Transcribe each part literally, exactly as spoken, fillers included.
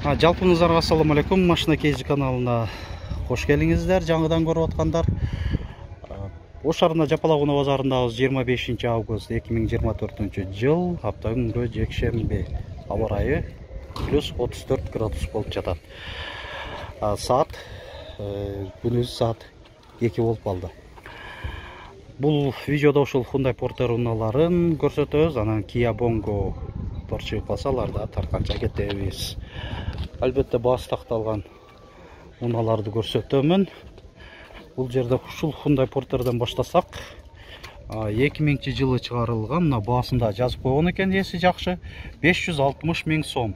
Жалпыңыздарга ассаламу алейкум. Машина Кейзи каналына кош келиңиздер. Жаңыдан көрүп аткандар. Ош шаарында Жапалак базарындабыз. жыйырма бешинчи август эки миң жыйырма төртүнчү жыл, апта күнгө жекшемби. Аба ырайы плюс отуз төрт градус болуп жатат. Саат күнүз саат эки болуп калды. Бул видеодо ушул Hyundai Porter унааларын көрсөтөбүз. Анан Kia Bongo торчуп калсалар да тартканча кетебиз. Албетте баасы такталган унааларды көрсөтөмүн. Бул жерде ушул Hyundai Porter'дан баштасак, эки миңинчи жылы чыгарылган, мына баасында жазып койгон экен, эси жакшы. беш жүз алтымыш миң сом.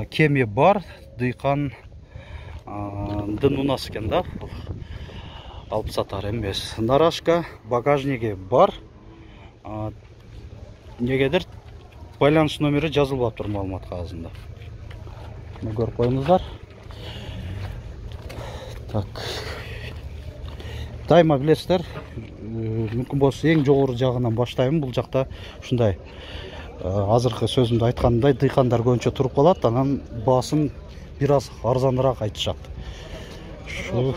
Кеми бар, дыйкандын унасы экен да. Алып сатар эмес. Нарашка, багажниги бар. Негедир байланыш номери жазылбаптыр маалымат кагазында. Көрүп коюңуздар. Так. Дайыма билесиздер, мүмкүн болсо эң жогору жагынан баштайм. Бул жакта ушундай азыркы сөзүмдө айткандай дыйкандар көбүнчө туруп калат, анан баасын бир аз арзаныраак айтышат. Шу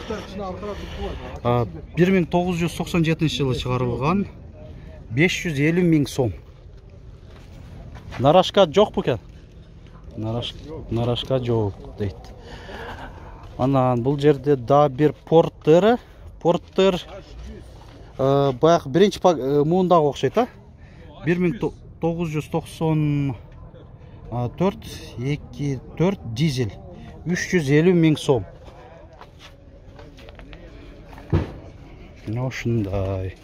бир миң тогуз жүз токсон жетинчи жылы чыгарылган, беш жүз элүү миң сом. Нарашка жок бекен? Нарашка, нарашка жок дейт. Анан бул жерде да бир Porter, Porter баягы биринчи муундагы окшойт, а? бир миң тогуз жүз токсон төрт эки төрт дизель, үч жүз элүү миң сом. Ошундай.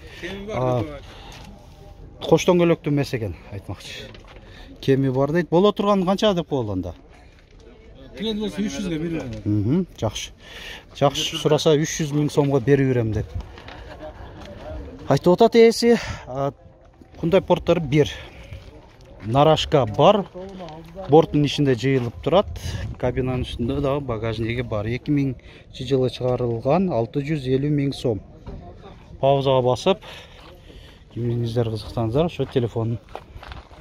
Кош дөңгөлөктүү эмес экен, айтмакчы. Кеми бар дейт. Боло турган канча деп коелганда? Тиген болсо үч жүзгө берип берем. Жакшы. Жакшы сураса үч жүз миң сомго берип берем деп айтып атат ээси. Hyundai Porter бир. Нарашка бар. Борттун ичинде жыйылып турат. Кабинанын үстүндө дагы багажниги бар. эки миңинчи жылы чыгарылган, алты жүз элүү миң сом. Паузага басып, кимиңиздер кызыксаңыздар, ошо телефон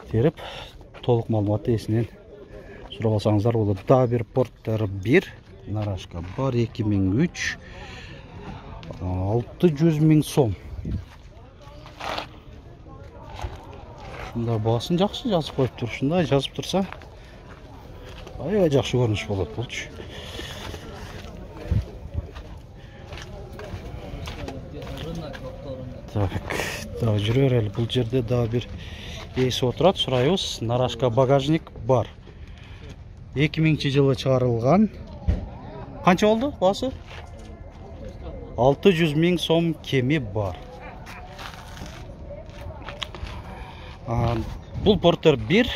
терип толук маалыматты эсинен сурап алсаңыздар болот. Да бир Porter бир, Нарашка бар, эки миң үч, алты жүз миң сом. Ушундай баасын жакшы жазып коюптур. Ушундай жазып турса, аябай жакшы көрүнүш болот булчу. Так, да жүрө берели. Бул жерде да бир ээси отурат, сурайбыз. Нарашка багажник бар. эки миңинчи жылы чыгарылган. Канча болду баасы? алты жүз миң сом кеми бар. Бул Porter бир,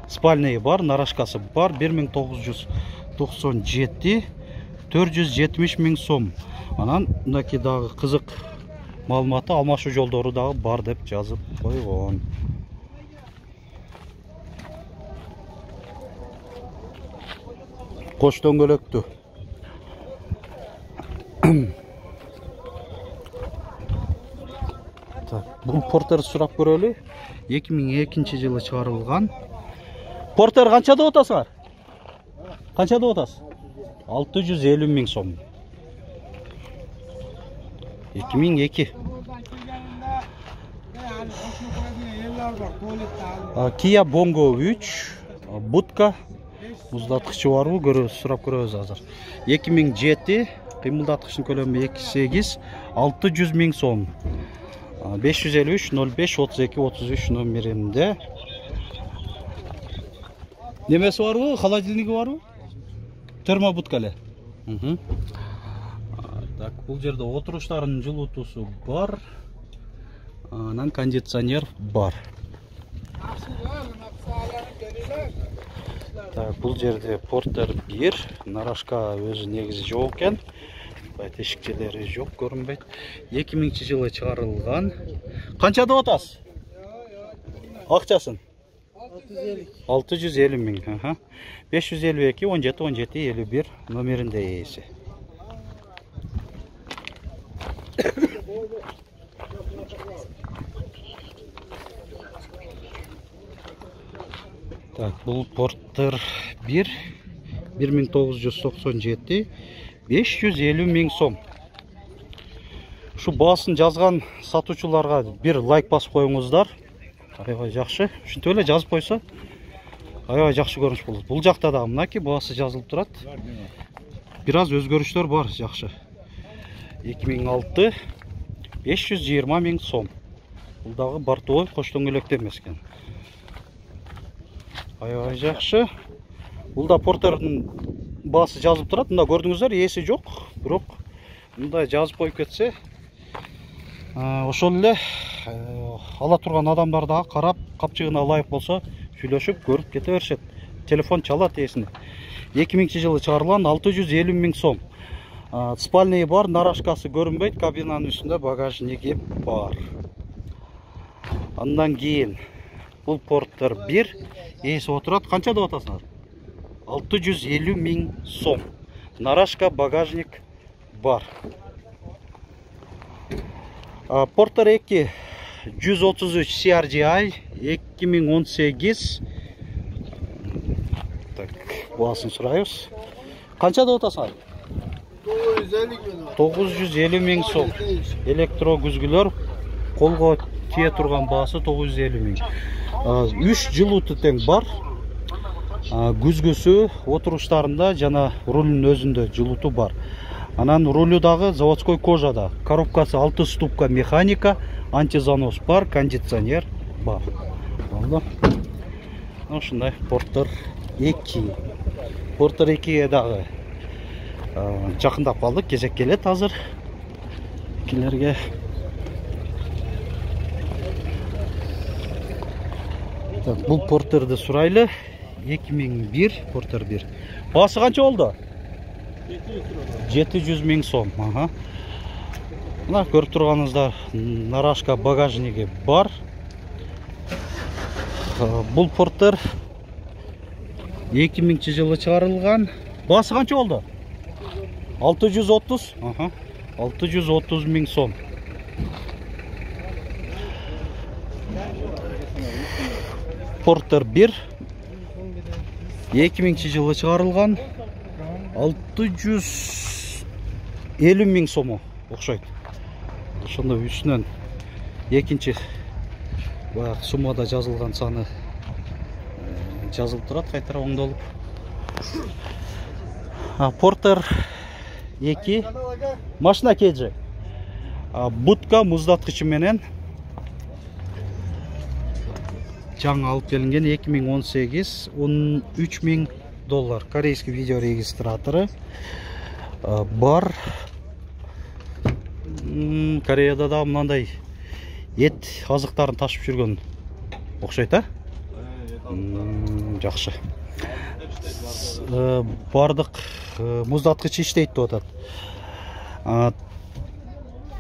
спальный бар, нарашкасы бар, бир миң тогуз жүз токсон жети, төрт жүз жетимиш миң сом. Анан мынакей дагы кызык маалыматы, алмашуу жолдору дагы бар деп жазып койгон. Кош дөңгөлөктүү. Так, бул Porter сурап көрөлү. эки миң экинчи жылы чыгарылган. Porter канча деп атасыңар? Канча деп атасыз? алты жүз элүү миң сом. эки миң эки. Kia Bongo үч, будка, муздаткычы барбы? Көрөбүз, сурап көрөбүз азыр. эки миң жети, кыймылдаткычтын көлөмү эки сегиз, алты жүз миң сом. беш жүз элүү үч ноль беш отуз эки отуз үч номеринде. Немеси барбы? Холодильниги барбы? Термобудка эле. Так, бул жерде отуруштардын жылытуусу бар. Анан кондиционер бар. Так, бул жерде Porter бир, Нарашка өзү негизи жок экен. Тешикчелери жок, көрүнбөйт. эки миңинчи жылы чыгарылган. Канча деп атасыз? Акчасын? алты жүз элүү миң. беш жүз элүү эки он жети он жети элүү бир номеринде ээси. Так, бул Porter бир бир миң тогуз жүз токсон жети, беш жүз элүү миң сом. Şu baaсын жазган сатуучуларга бир лайк басып коюңуздар. Аябай жакшы. Ушинтип эле жазып койсо аябай жакшы көрүнүш болот. Бул жакта да мынакей баасы жазылып турат. Бир аз өзгөрүштөр бар, жакшы. эки миң алты, беш жүз жыйырма миң сом. Бул дагы бортовой кош дөңгөлөктө эмес экен. Аябай жакшы. Бул да Портердин баасы жазылып турат. Мында көрдүңүздөр, ээси жок, бирок мындай жазып коюп кетсе, ошол эле ала турган адамдар дагы карап, капчыгына ылайык болсо, сүйлөшүп, көрүп кете беришет. Телефон чалат ээсине. эки миңинчи жылы чыгарылган, алты жүз элүү миң сом. Спальный бар, нарашкасы көрүнбөйт, кабинанын үстүндө багажниги бар. Андан кийин бул Портер бир ээси отурат. Канча деп атасыңар? алты жүз элүү миң сом. Нарашка, багажник бар. Портер эки жүз отуз үч си ар джи ай эки миң он сегиз. Так, баасын сурайбыз. Канча деп атасыңар? тогуз жүз элүү миң сом. Электро күзгүлөр, колго тие турган баасы тогуз жүз элүү миң. үч жылууту тең бар. Күзгүсү отуруштарында жана рулдун өзүндө жылууту бар. Анан рулю дагы заводской кожада. Коробкасы алты ступка механика, антизанос бар, кондиционер бар. Болду. Ушундай Портер эки. Портер экиге дагы жакындап калдык, кезек келет азыр. Килерге бул Портерди сурайлы. эки миң бир, Портер бир. Баасы канча болду? жети жүз миң сом. Ага. Мына көрүп турганыңыздар, нарашка, багажниги бар. Бул Портер эки миңинчи жылы чыгарылган. Баасы канча болду? алты жүз отуз. Ага. алты жүз отуз миң сом. Портер бир эки миңинчи жылы чыгарылган, алты жүз элүү миң сому окшойт. Ошондо үстүнөн экинчи баягы суммада жазылган саны жазылып турат, кайтара оңдолуп. Портер эки машина кейджи. Будка муздаткычы менен жаңы алып келинген, эки миң он сегиз, он үч миң доллар. Корейский видео регистраторы бар. Кореяда да мындай эт азыктарын ташып жүргөн окшойт, а? Жакшы. Бардык муздаткыч иштейт деп атат.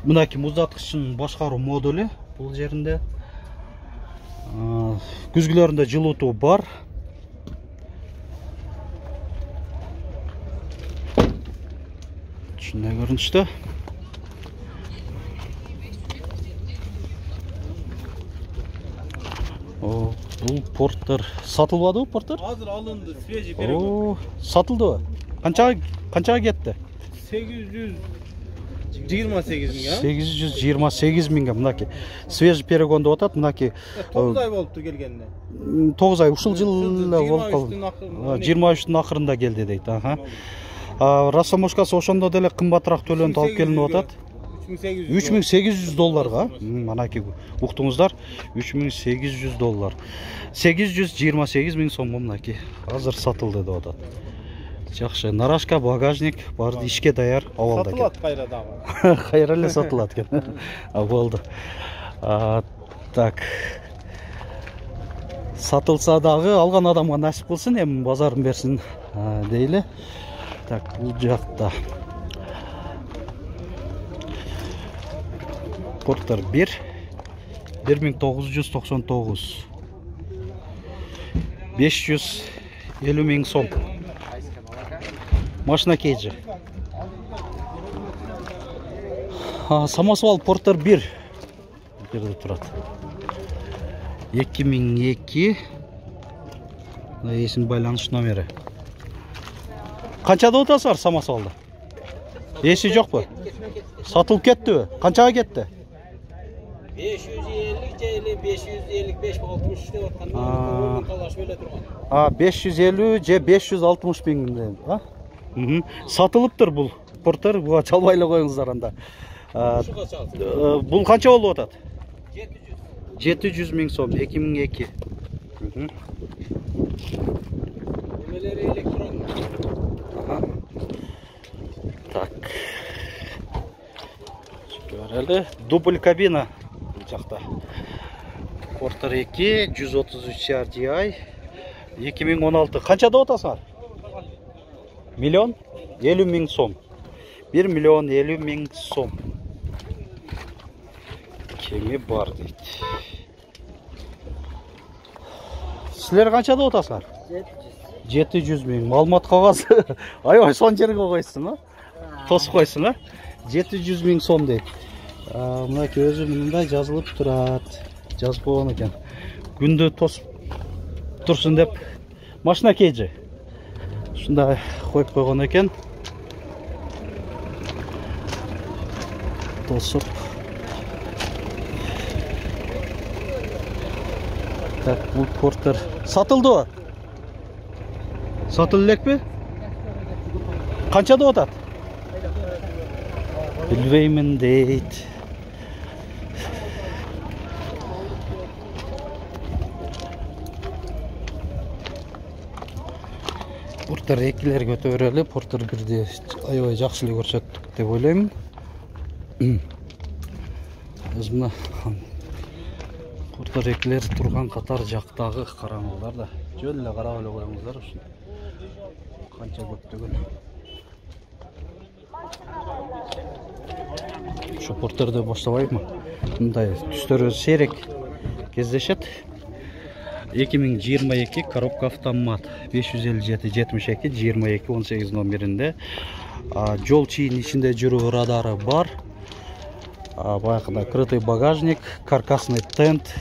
Мынакей муздаткычтын башкаруу модулу бул жеринде. Күзгүлөрүндө жылуутуу бар. Ушундай көрүнүштө. О, бул Портер сатылбадыбы, Портер? Азыр алынды, свежий перегон. О, сатылдыбы? Канчага канчага кетти? сегиз жүз жыйырма сегиз миң, а? сегиз жүз жыйырма сегиз миңге мынакей свежий перегон деп атат. Мынакей тогуз ай болупту келгенде. тогуз ай ушул жыл эле болуп калды. жыйырма үчтүн акырында келди дейт. Аха. Росомошкасы ошондо деле кымбатыраак төлөнүп алып келинип атат. үч миң сегиз жүз долларга. Манакей уктуңуздар, үч миң сегиз жүз доллар. сегиз жүз жыйырма сегиз миң сом мынакей азыр сатылды деп атат. Жакшы, нарашка, багажник бар, ишке даяр абалда экен. Сатылат кайра дагы. Кайра эле сатылат экен. Болду. Так. Сатылса дагы алган адамга насип кылсын, эми базарын берсин дейли. Так, бул жакта Портер бир, бир миң тогуз жүз токсон тогуз. беш жүз элүү миң сом. Машина кейджи. Самосвал Портер бир. Жерде турат. эки миң эки. Эсин байланыш номери. Канчада отасыңар самосвалды? Эси жокпу? Сатылып кеттиби? Канчага кетти? besh yuz ellik же besh yuz ellik besh алтымыш деп атканда талашып эле турган. А, besh yuz elүү же besh yuz алтымыш миң, а? Мм. Сатылыптыр бул Портер, буга чалбай эле коюңуздар анда. Ушуга чалсын. Бул канча болуп атат? жети жүз. жети жүз миң сом, эки миң эки. Мм. Немелери электрон. Так. Көрөлү, дубль кабина бул жакта. Портер эки, жүз отуз үч ар ди ай, эки миң он алты. Канчада отасыңар? Миллион элүү миң сом. бир миллион элүү миң сом. Кеми бар дейт. Силер канчада отасыңар? жети жүз миң. Маалымат кагаз. Аябай сон жерге койсуң, а? Тосуп койсуң, а? жети жүз миң сом дейт. Мына көзү мындай жазылып турат. Жазып койгон экен. Күндү тосуп турсун деп машина кейжи. Ушундай коюп койгон экен. Тосуп. Так, бул Портер сатылдыбы? Сатылып элекпи? Канчада атат? Билбеймин дейт. Портер экилерге өтө берели. Портер бирди аябай жакшы эле көрсөттүк деп ойлойм. Өзүмө Портер экилер турган катар жактагы караңыздар да. Жөн эле карап эле коюңуздар ушун. Канча көптөгөн. Şu Porter'de баштабайбы? Мындай түстөрү сейрек кездешет. эки миң жыйырма эки коробка автомат беш жүз элүү жети жетимиш эки жыйырма эки он сегиз номеринде. Жол чийин ичинде жүрүү радары бар. Баягындай крытый багажник, каркасный тент,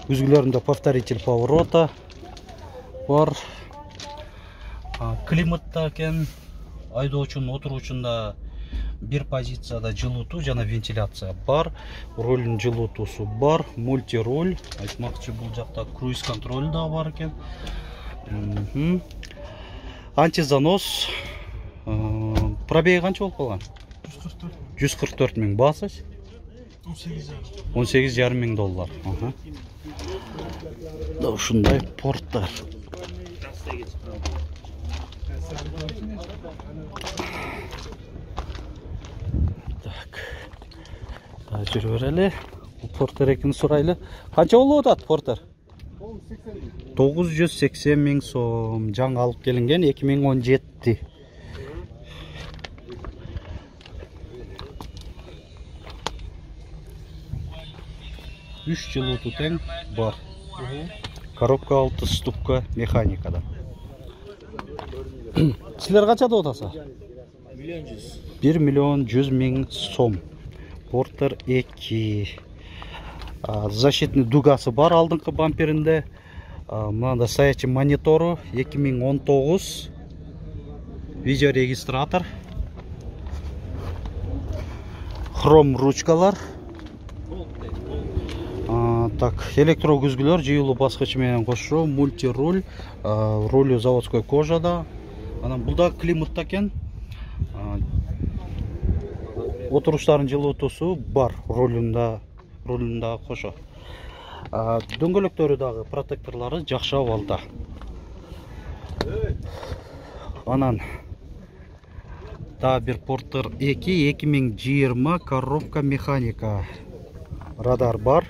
үзгүлөрүндө повторитель поворота бар. Климатта экен, айдоочунун отуруучунда бир позицияда жылытуу жана вентиляция бар. Рулдун жылытуусу бар, мультируль. Айтмакчы бул жакта круиз контроль да бар экен. Антизанос. Пробеги канча болуп калган? жүз кырк төрт миң. Баасыз? он сегиз жарым миң доллар. Да ушундай Портер. Жүрүп берели. Портер экини сурайлы. Канча болуп атат Портер? тогуз жүз сексен миң сом. Жаңы алып келинген эки миң он жети. үч жылытуу тең бар. Коробка алты ступка механикада. Силер канчада отасыңар? бир миллион жүз миң сом. Портер эки. Защитный дугасы бар алдыңкы бамперинде. Мында стоячий монитору эки миң он тогуз. Видеорегистратор. Хром ручкалар. Так, электро күзгүлөр жыйылуу баскычы менен кошо, мультируль, рулю заводской кожада. Анан булда климатта экен. Отуруштардын жылытуусу бар рулунда, рулунда кошо. Дөңгөлөктөрү дагы протекторлору жакшы абалда. Анан да бир Портер эки эки миң жыйырма коробка механика. Радар бар.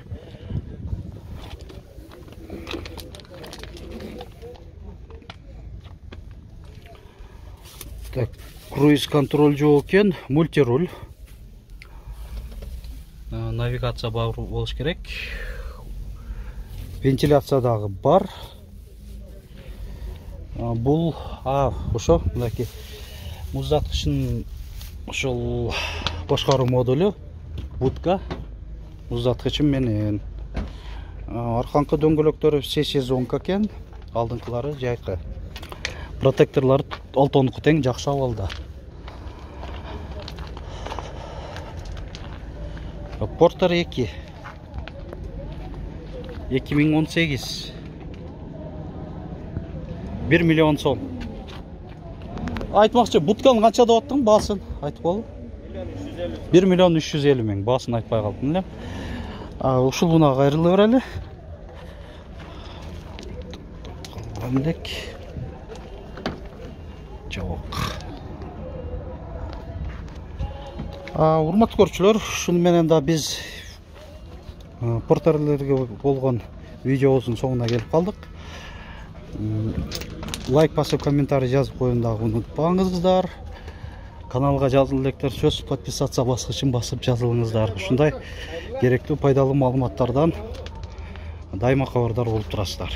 Так, круиз контроль жок экен, мультируль. Навигация бар болуш керек. Вентиляция дагы бар. Бул а ошо мынакей муздаткычын ошол башкаруу модулу будка муздаткычы менен. Арканкы дөңгөлөктөрү все сезонка экен, алдыңкылары жайкы. Протекторлор олтондуку тең жакшы абалда. Портер эки эки миң он сегиз бир миллион сом. Айтмакчы, бутканы канча деп аттың баасын? Айтып кол. бир миллион үч жүз элүү миң. Баасын айтпай калдым эле. А ушул буна кайрылы берели. Калгандек. Жок. А урматтуу көрүүчүлөр, шуну менен да биз портерлерге болгон видеобуздун соңуна келип калдык. Лайк басып, комментарий жазып коюуну дагы унутпаңыздар. Каналга жазыл электер сөз подписация баскычын басып жазылыңыздар. Ушундай керектүү пайдалуу маалыматтардан дайыма кабардар болуп турасыздар.